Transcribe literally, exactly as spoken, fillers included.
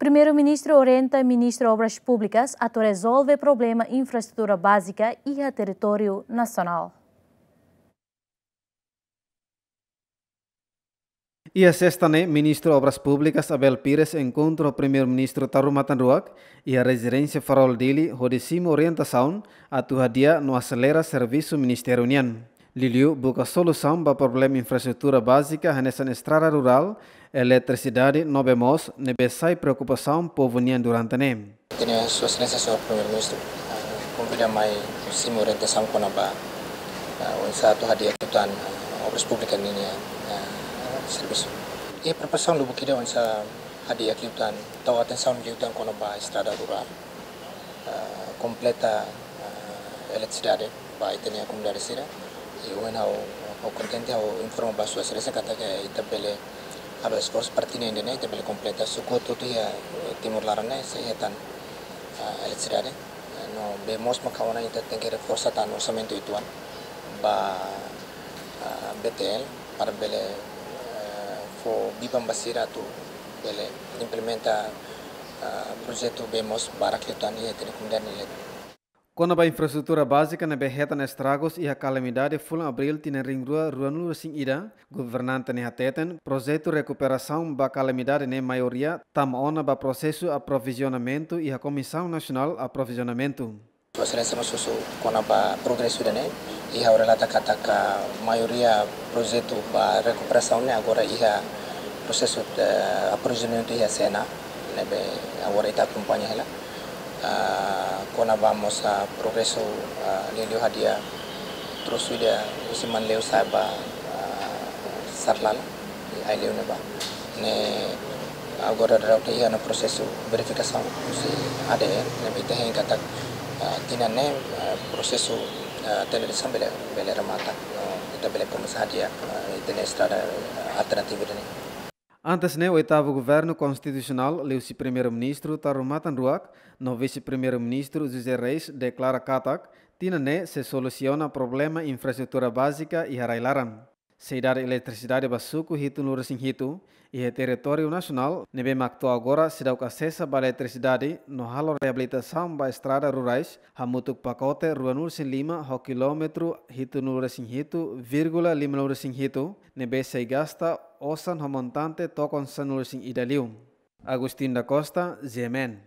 Primeiru-Ministru orienta Ministru Obras Públikas atu rezolve problema infraestrutura bázika iha territóriu nasionál. Iha sesta ne'e, Ministru Obras Públikas Abel Pires enkontru ho Primeiru-Ministru Taur Matan Ruak iha rezidénsia Farol Dili hodi simu orientasaun atu hadi'a no aselera servisu ministériu nian. Liuliu buka solusaun ba problema infraestrutura bázika hanesan estrada rurál, eletrisidade no bee moos ne'ebé sai preokupasaun povu nian durante ne'e. Ita-nia Sua Exelénsia Señór Primeiru-Ministru, ah, konvida mai simu orientasaun kona-ba, ah, oinsá atu hadi'a liután, ah, Obras Públikas ninia, ah, servisu. Iha preparasaun lubuk ida oinsá hadi'a liután, tau atensaun liután kona-ba estrada rurál, ah, kompleta, ah, eletrisidade ba ita-nia komunidade sira. I ohin ha'u, ha'u kontente ha'u informa ba Sua Exelénsia katak ita bele halo esforsu parte ne'e ida-ne'e, ita bele kompleta suku hotu-hotu iha, eh, Timor laran ne'e sei hetan, ah, eletrisidade. Eh, no bee moos maka ona ita tenke reforsa tan orsamentu uitoan ba, ah, B T L para bele, eh, fó biban ba sira atu bele implementa, ah, projetu bee moos barak liután iha ita-nia komunidade ne'e. Kona-ba infraestrutura bázika ne'ebé hetan estragus iha kalamidade fulan Abríl tinan rihun rua ruanulu resin ida, governante ne'e hateten, projetu rekuperasaun ba kalamidade ne'e maioria tama ona ba prosesu aprovizionamentu iha Komisaun Nasionál Aprovizionamentu. Sua Exelénsia mós husu kona-ba progresu ida-ne'e, i ha'u relata katak maioria projetu ba rekuperasaun ne'e agora iha prosesu, eh, aprovizionamentu iha C N A, ne'ebé agora ita akompaña hela. Ah, kona-ba mós, ah, progresu, ah, liuliu hadi'a trosu ida husi Manleu sa'e ba, ah, Sarlala, i Aileu ne'ebá. Ne'e agora daudaun iha ona prosesu verifikasaun husi A D E, ne'ebé ita hein katak, ah, tinan ne'e, ah, prosesu, ah, tenda de asaun bele, bele remata. No ita bele komesa hadi'a, ah, ita-nia estrada, ah, alternativa ida-ne'e. Antes ne'e, Oitavu Governu Konstitusionál, liuhusi Primeiru-Ministru Taur Matan Ruak no Vise-Primeiru-Ministru José Reis deklara katak tinan ne'e sei solusiona problema infraestrutura bázika iha rai-laran. Sei dada eletrisidade ba suku hitunulu resin hitu iha territóriu nasionál ne'ebé mak to'o agora seidauk asesa ba eletrisidade no halo reabilitasaun ba estrada rurais hamutuk pakote ruanulu resin lima ho kilómetru hitunulu resin hitu vírgula limanulu resin hitu ne'ebé sei gasta osan ho montante tokon sanulu resin ida liu. Agustin da Costa, G M N.